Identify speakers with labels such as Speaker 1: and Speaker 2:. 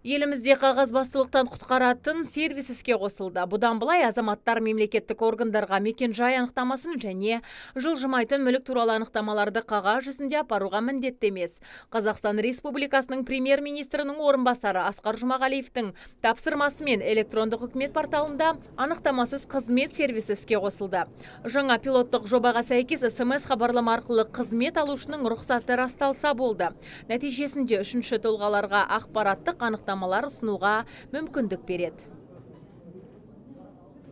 Speaker 1: Елімізде қағазбастылықтан құтқаратын сервис іске қосылды. Бұдан былай азаматтар мемлекеттік органдарға мекен-жай анықтамасын және жылжымайтын мүлік туралы анықтамаларды қағаз жүзінде апаруға міндетті емес. Қазақстан Республикасының премьер-министрінің орынбасары Асқар Жұмағалиевтің тапсырмасымен электрондық үкімет порталында анықтамасыз қызмет сервисі іске қосылды. Жаңа пилоттық жобаға сәйкес СМС хабарлама арқылы қызмет алушының рұқсаты расталса болды. Нәтижесінде үшінші тұлғаларға ақпараттық анықтамалар ұсынуға мүмкіндік береді.